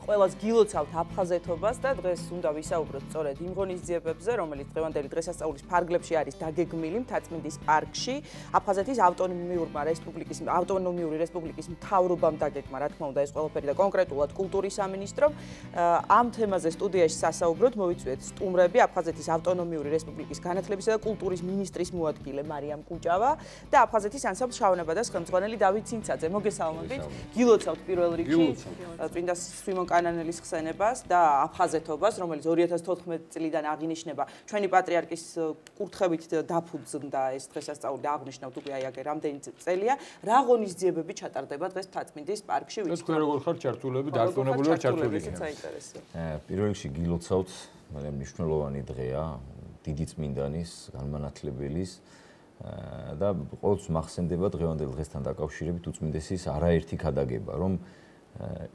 ყველას გილოცავთ აფხაზეთობას და დღეს უნდა ვისაუბროთ სწორედ იმ ღონისძიებებზე, რომელიც დღევანდელი დღესასწაულის ფარგლებში არის დაგეგმილი მთაწმინდის პარკში. აფხაზეთის ავტონომიური რესპუბლიკის მთავრობამ დაგეგმა, რა თქმა უნდა, ეს ყველაფერი და კონკრეტულად კულტურის სამინისტრომ. ამ თემაზე სტუდიაში სასაუბროთ მოვიწვიეთ სტუმრები, აფხაზეთის ავტონომიური რესპუბლიკის განათლებისა და კულტურის მინისტრის მოადგილე მარიამ კუჭავა და აფხაზეთის ანსამბლ შავნაბადას ხელმძღვანელი დავით ცინცაძე. მოგესალმებით. გილოცავთ პირველ რიგში წმინდა სვიმონ კანანელის ხსენებას და აფხაზეთობას, რომელიც 2014 წლიდან აღინიშნება. ჩვენი პატრიარქის კურთხევით დაფუძნდა ეს დღესასწაული და აღნიშნავთ უკვე აი აგერ რამდენი წელია. რა ღონისძიებები ჩატარდება დღეს მთაწმინდის პარკში? თქვენ როგორ ხართ ჩართულები, დარწმუნებული ვარ ჩართული იქნება. პირველ რიგში გილოცავთ, მაგრამ მნიშვნელოვანი დღეა, დიდი წმინდანის, განმანათლებელის და ყოველთვის მახსენდება დღევანდელ დღესთან დაკავშირებით უწმინდესის არაერთი ქადაგება, რომ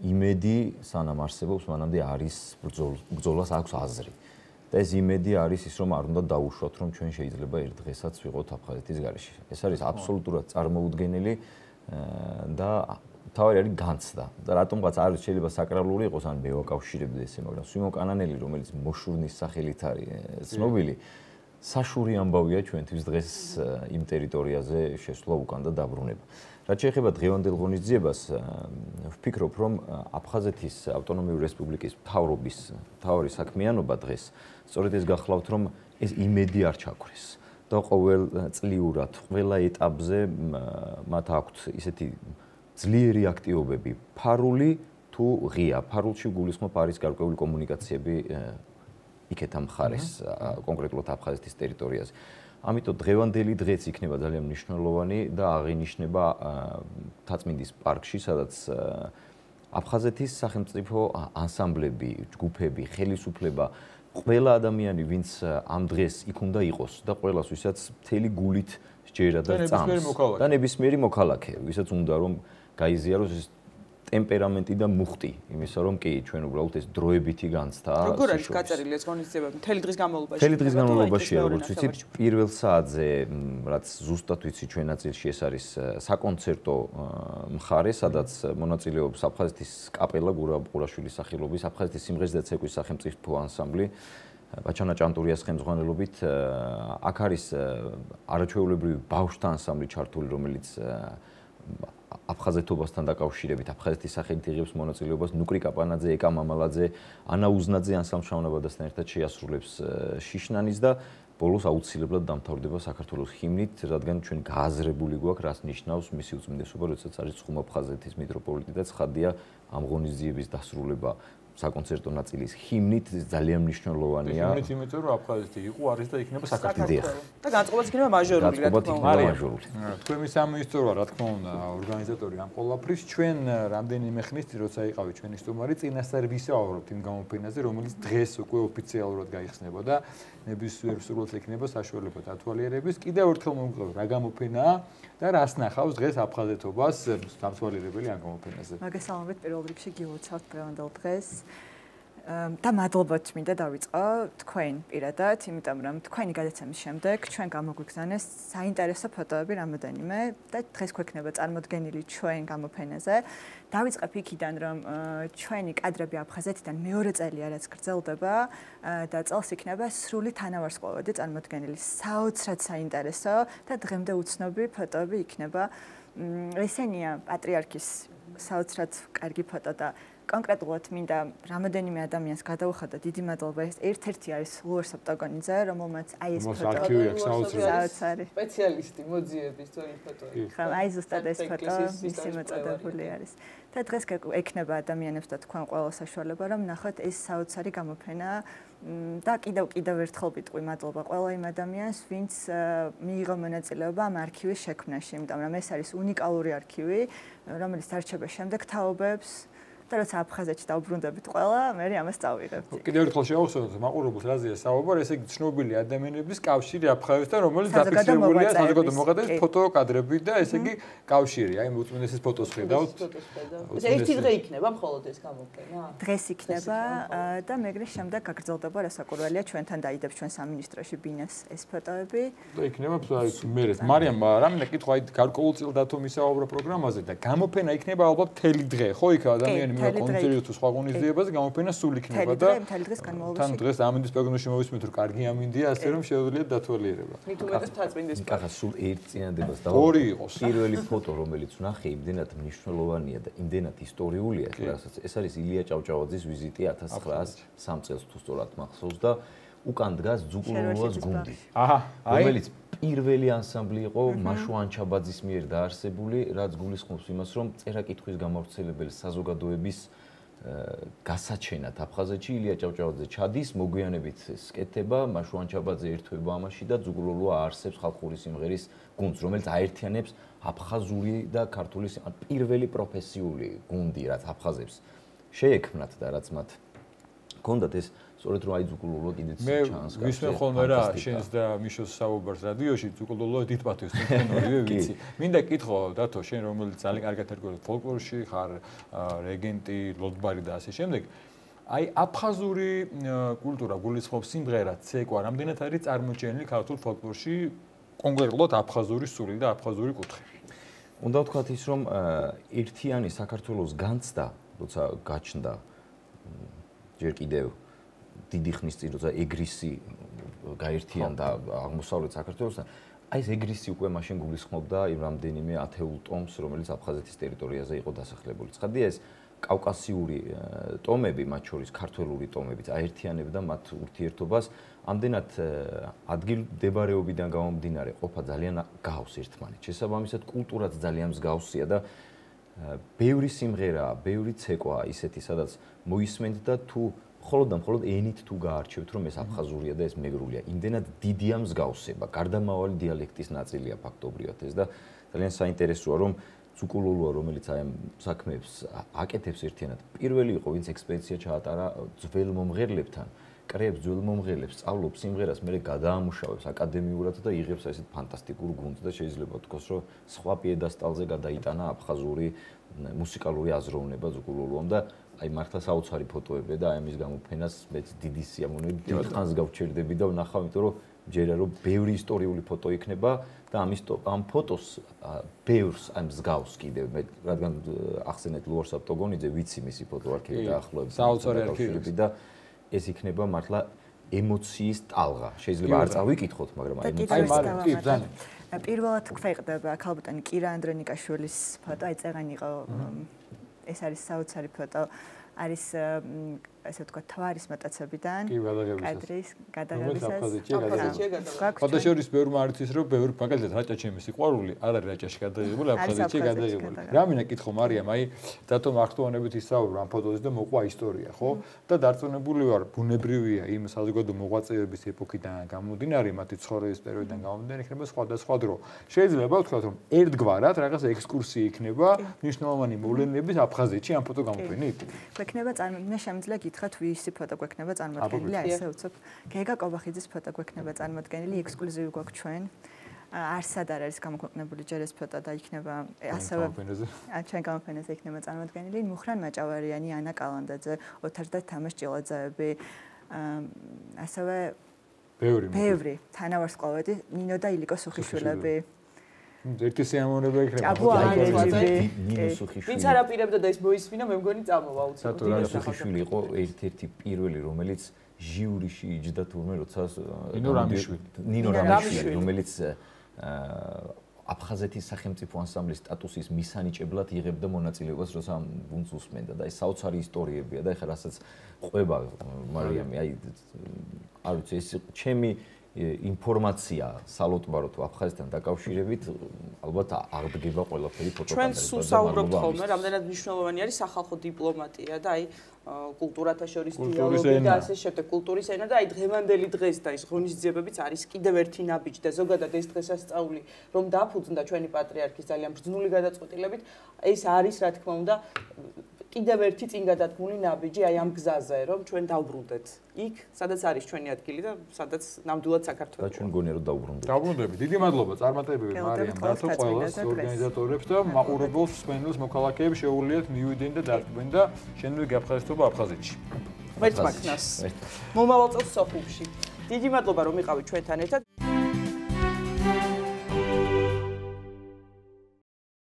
იმედი სანამ არსებობს, მანამდე არის ბრძოლას აქვს აზრი. და ეს იმედი არის ის, რომ არ უნდა დაუშვათ, რომ ჩვენ შეიძლება ერთ დღესაც ვიყოთ აფხაზეთის გარეშე. ეს არის აბსოლუტურად წარმოუდგენელი და თავი არის განცდა. და რატომღაც არის შეიძლება საკრალური იყოს, ან მე ვაკავშირებდი ესე, მაგრამ სვიმონ კანანელი, რომელიც მოშურნის სახელით არის ცნობილი, საშური ამბავია ჩვენთვის დღეს იმ ტერიტორიაზე შესვლა უკან და დაბრუნება. რაც შეეხება დღევანდელ ღონისძიებას, ვფიქრობ, რომ აფხაზეთის ავტონომიური რესპუბლიკის მთავრობის მთავარი საქმიანობა დღეს სწორედ ეს გახლავთ, რომ ეს იმედი არ ჩაქრეს და ყოველწლიურად, ყველა ეტაპზე მათ აქვთ ისეთი ძლიერი აქტივობები, ფარული თუ ღია. ფარულში გულისხმობ არის გარკვეული კომუნიკაციები იქეთ ამ მხარეს, კონკრეტულად აფხაზეთის ტერიტორიაზე. ამიტომ დღევანდელი დღეც იქნება ძალიან მნიშვნელოვანი და აღინიშნება მთაწმინდის პარკში, სადაც აფხაზეთის სახელმწიფო ანსამბლები, ჯგუფები, ხელისუფლება, ყველა ადამიანი, ვინც ამ დღეს იქ უნდა იყოს და ყველას, ვისაც მთელი გულით სჯერა და წამს და ნებისმიერი მოქალაქე, ვისაც უნდა რომ გაიზიაროს ეს ტემპერამენტი და მუხტი, იმისა რომ კი ჩვენ უბრალოდ ეს დროებითი განცდა. როგორ არის გაწერილი ეს ღონისძიებები? მთელი დღის განმავლობაში. მთელი დღის განმავლობაშია, როგორც ვიცით, პირველ საათზე, რაც ზუსტად ვიცი ჩვენ ნაწილში ეს არის საკონცერტო მხარე, სადაც მონაწილეობს აფხაზეთის კაპელა გურაბ-ყურაშვილის სახელობის, აფხაზეთის სიმღერის და ცეკვის სახელმწიფო ანსამბლი ბაჩანა ჭანტურიას ხელმძღვანელობით. აქ არის არაჩვეულებრივი ბავშვთა ანსამბლი ჩართული, რომელიც აფხაზეთობასთან დაკავშირებით აფხაზეთის სახელით იღებს მონაწილეობას. ნუკრი კაპანაძე, ეკა მამალაძე, ანა უზნაძე ანსამბლ შავნაბადასთან ერთად შეასრულებს შიშნანის და ბოლოს აუცილებლად დამთავრდება საქართველოს ჰიმნით, რადგან ჩვენ გააზრებული გვაქვს, რას ნიშნავს მისი უწმინდესობა, როდესაც არის ცხუმ აფხაზეთის მიტროპოლიტი და ცხადია ამ ღონისძიების დასრულება საკონცერტო ნაწილის ჰიმნით ძალიან მნიშვნელოვანია. ჰიმნით იმიტომ რომ აფხაზეთი იყო, არის და იქნება საქართველოს. და განწყობაც იქნება მაჟორული, რა თქმა უნდა. თქვენი სამინისტროა, რა თქმა უნდა, ორგანიზატორი ამ ყველაფრის. ჩვენ რამდენიმე ხნის წინ როცა იყავით ჩვენი სტუმარი, წინასწარ ვისაუბრობთ იმ გამოფენაზე, რომელიც დღეს უკვე ოფიციალურად გაიხსნება და ნებისმიერ სურვილს ექნება საშუალება დათვალიერების. კიდევ ერთხელ მომგწევ რა გამოფენაა და რას ნახავს დღეს აფხაზეთობას დამცველებელი ამ გამოფენაზე. მოგესალმებით პირველ რიგში გილოცავთ დღევანდელ დღეს. და მადლობა მინდა დავიწყო თქვენ პირადად, იმიტომ რომ თქვენი გადაცემის შემდეგ ჩვენ გამოგვიგზავნეს საინტერესო ფოტოები რამოდენიმე და დღეს გვექნება წარმოდგენილი ჩვენ გამოფენაზე. დავიწყებ იქიდან, რომ ჩვენი კადრები აფხაზეთიდან მეორე წელია რაც გრძელდება და წელს იქნება სრული თანავარსკვლავედი წარმოდგენილი. საოცრად საინტერესო და დღემდე უცნობი ფოტოები იქნება. ესენია პატრიარქის საოცრად კარგი ფოტო და კონკრეტულად მინდა რამოდენიმე ადამიანს გადავუხადო დიდი მადლობა. ეს ერთ-ერთი არის ლუარს ოპტაგონიძე, რომელმაც აი ეს ფოტო საოცარი სპეციალისტი მოძიების ძველი ფოტოები. ხა აი ზუსტად ეს ფოტო მისი მოწოდებული არის. და დღეს ექნება ადამიანებს და თქვენ ყველა საშუალება რომ ნახოთ ეს საოცარი გამოფენა და კიდევ ერთხელ ვიტყვი მადლობა ყველა იმ ადამიანს, ვინც მიიღო მონაწილეობა ამ არქივის შექმნაში, იმიტომ რომ ეს არის უნიკალური არქივი, რომელიც დარჩება შემდეგ თაობებს. და როცა აფხაზეთში დავბრუნდებით ყველა, მე ამას წავიღებთ. კიდევ ერთხელ შევახსენოთ, მაყურებელს რაზეა საუბარი, ესე იგი ცნობილი ადამიანების კავშირი აფხაზეთთან, რომელიც დაფიქსირებულია საზოგადო მოღვაწეების ფოტოკადრებით და ესე იგი კავშირი, აი უწმინდესის ფოტოს ხედავთ. ერთი დღე იქნება მხოლოდ ეს გამოფენა? დღეს იქნება და მეგრის შემდეგ გაგრძელდება რასაკვირველია ჩვენთან დაიდებს ჩვენ სამინისტროში ბინას ეს ფოტოები. და იქნება მერე. მარიამ, რამინდა კითხვა, აი გარკვეულწილ დათომ ისაუბრა პროგრამაზე და გამოფენა იქნება ალბათ მთელი დღე, ხო იქ ადამიანი კონცერტი თუ სხვა ღონისძიებაზე გამოფენა სულ იქნება და მთელი დღის განმავლობაში. თან დღეს ამინდის პროგნოზში მოვისმენთ რომ კარგი ამინდია, ასე რომ შეუძლიათ დათვალიერება. მით უმეტეს თაწმინდის კახა სულ ერთ წინადებას და ორი იყოს. პირველი ფოტო რომელიც ვნახე იმდენად მნიშვნელოვანია და იმდენად ისტორიულია, რასაც ეს არის ილია ჭავჭავაძის ვიზიტი 1903 წელს თუ სწორად მახსოვს და უკან დგას ძუკულულოს გუნდი. რომელიც პირველი ანსამბლი იყო მაშუან ჩაბაძის მიერ დაარსებული, რაც გულისხმობს იმას, რომ წერა-კითხვის გამავრცელებელი საზოგადოების გასაჩენად აფხაზეთში ილია ჭავჭავაძე ჩადის, მოგვიანებით სკეთება, მაშუან ჩაბაძე ერთვება ამაში და ძუკულულო აარსებს ხალხური სიმღერის გუნდს, რომელიც აერთიანებს აფხაზური და ქართული პირველი პროფესიული გუნდი, რაც აფხაზებს შეექმნათ და რაც მათ ჰქონდათ ეს სწორედ რომ აი ძუკულულო კიდეც ჩანს. მე ვისმენ ხოლმე რა შენს და მიშოს საუბარს რადიოში ძუკულულო დიდ პატივს თქონორივე ვიცი. მინდა კითხო დათო შენ რომელიც ძალიან კარგად ერგო ფოლკლორში ხარ რეგენტი, ლოდბარი და ასე შემდეგ. აი აფხაზური კულტურა გულისხმობს სიმღერა, ცეკვა, რამდენად არის წარმოჩენილი ქართულ ფოლკლორში კონკრეტულად აფხაზური სული და აფხაზური კუთხე. უნდა ვთქვათ ის რომ ერთიანი საქართველოს განცდა, როცა გაჩნდა ჯერ კიდევ დიდი ხნის წინ როცა ეგრისი გაერთიანდა აღმოსავლეთ საქართველოსთან, აი ეს ეგრისი უკვე მაშინ გულისხმობდა იმ რამდენიმე ათეულ ტომს, რომელიც აფხაზეთის ტერიტორიაზე იყო დასახლებული. ცხადია ეს კავკასიური ტომები, მათ შორის ქართველური ტომებიც აერთიანებდა მათ ურთიერთობას, ამდენად ადგილმდებარეობიდან გამომდინარე ყოფა ძალიან გავს ერთმანეთს. შესაბამისად კულტურაც ძალიან მსგავსია და ბევრი სიმღერაა, ბევრი ცეკვაა ისეთი, სადაც მოისმენთ და თუ მხოლოდ ენით თუ გაარჩევთ, რომ ეს აფხაზურია და ეს მეგრულია, იმდენად დიდია მსგავსება, გარდამავალი დიალექტის ნაწილია ფაქტობრივად ეს და ძალიან საინტერესოა, რომ ძუკულულოა, რომელიც აი ამ საქმეებს აკეთებს ერთიანად, პირველი იყო, ვინც ექსპედიცია ჩაატარა ძველ მომღერლებთან, კრებს ძველ მომღერლებს, სწავლობს სიმღერას, მერე გადაამუშავებს აკადემიურად და იღებს ესეთ ფანტასტიკურ გუნდს და შეიძლება ვთქვას, რომ სხვა პიედესტალზე გადაიტანა აფხაზური მუსიკალური აზროვნება ძუკულულოამ და აი მართლა საოცარი ფოტოებია და აი ამის გამოფენას მეც დიდი სიამოვნებით დიდხანს გავჩერდები და ვნახავ, იმიტომ რომ ჯერა რომ ბევრი ისტორიული ფოტო იქნება და ამ ფოტოს ბევრს აი მსგავს კიდევ მე რადგან ახსენეთ ლუარ საბტოგონიძე ვიცი მისი ფოტო არქივი დაახლოებით საოცარი არქივი და ეს იქნება მართლა ემოციის ტალღა. შეიძლება არ წავიკითხოთ, მაგრამ აი კი ბრძანა. პირველად გვხვდება აქ ალბათანი კირა ანდრონიკაშვილის ფოტო, აი წეღანი იყო ეს არის საოცარი ფოტო. არის ესე ვთქვათ თვარის მოტაცებიდან კადრის გადაღებისას ფოტოშორის ბევრმა არის ის რომ ბევრი მაგალითად რაჭა-ჩემი სიყვარული არ არის რაჭაში გადაღებული, აფხაზეთში გადაღებული. რა მინდა კითხო მარიამ, აი დათომ აქტუალობით ისაუბრა ამ ფოტოზე და მოყვა ისტორია, ხო? და დარწმუნებული ვარ, ბუნებრივია იმ საზოგადო მოღვაწეების ეპოქიდან გამომდინარე, მათი ცხოვრების პერიოდიდან გამომდინარე იქნება სხვადასხვა დრო. შეიძლება ვთქვათ რომ ერთგვარად რაღაც ექსკურსია იქნება მნიშვნელოვანი მოვლენების აფხაზეთში ამ ფოტო გამოფენით. გვექნება წარმოქმნა შემიძლია გითხრათ ვისი ფოტო გვექნება წარმოქმნილი, ასე ვთქვათ. გეგა კობახიძის ფოტო გვექნება წარმოქმნილი, ექსკლუზივი გვაქვს ჩვენ. არსად არ არის გამოქვეყნებული ჯერ ეს ფოტო და იქნება ასევე ჩვენ გამოფენაზე იქნება წარმოქმნილი. მუხრან მაჭავარიანი, ანა კალანდაძე, ოთარ და თამაშ ჭილაძეები, ასევე ბევრი თანავარსკვლავედი, ნინო და ილიკო სუხიშვილები. ერთი სიამოვნება იქნება. აბუ ანჯელი, ნინო სუხიშვილი. ვინც არ აპირებდა და ეს მოისმინა, მე მგონი წამოვა უცებ. ნინო სუხიშვილი იყო ერთ-ერთი პირველი, რომელიც ჟიურიში იჯდა თურმე, როცა ნინო რამიშვილი, რომელიც აფხაზეთის სახელმწიფო ანსამბლის სტატუსის მისანიჭებლად იღებდა მონაწილეობას, როცა გუნდს უსმენდა და ეს საოცარი ისტორიებია და ეხლა რასაც ყვება მარიამი, აი არ ვიცი, ეს ჩემი ინფორმაცია სალოტბარო თუ აფხაზეთთან დაკავშირებით ალბათ აღდგება ყველაფერი ფოტოკადრებად. ჩვენ სულ საუბრობთ ხოლმე, რამდენად მნიშვნელოვანი არის სახალხო დიპლომატია და აი კულტურათა შორის დიალოგი და ასე შემდეგ, კულტურის ენა და აი დღევანდელი დღეს და ის ღონისძიებებიც არის კიდევ ერთი ნაბიჯი და ზოგადად ეს დღესასწაული რომ დაფუძნდა ჩვენი პატრიარქის ძალიან ბრძნული გადაწყვეტილებით, ეს არის რა თქმა უნდა კიდევ ერთი წინ გადადგმული ნაბიჯი აი ამ გზაზე, რომ ჩვენ დავბრუნდეთ იქ, სადაც არის ჩვენი ადგილი და სადაც ნამდვილად საქართველო. და ჩვენ გონია რომ დავბრუნდეთ. დავბრუნდებით. დიდი მადლობა წარმატებები მარიამ დათო ყველას ორგანიზატორებს და მაყურებელს მსმენელს მოქალაქეებს შეუულიათ მივიდნენ და დარწმუნდნენ და შენვე გაფხაზეთობა აფხაზეთში. მერც მაგნას. მომავალ წელს სოფულში. დიდი მადლობა რომ იყავით ჩვენთან ერთად.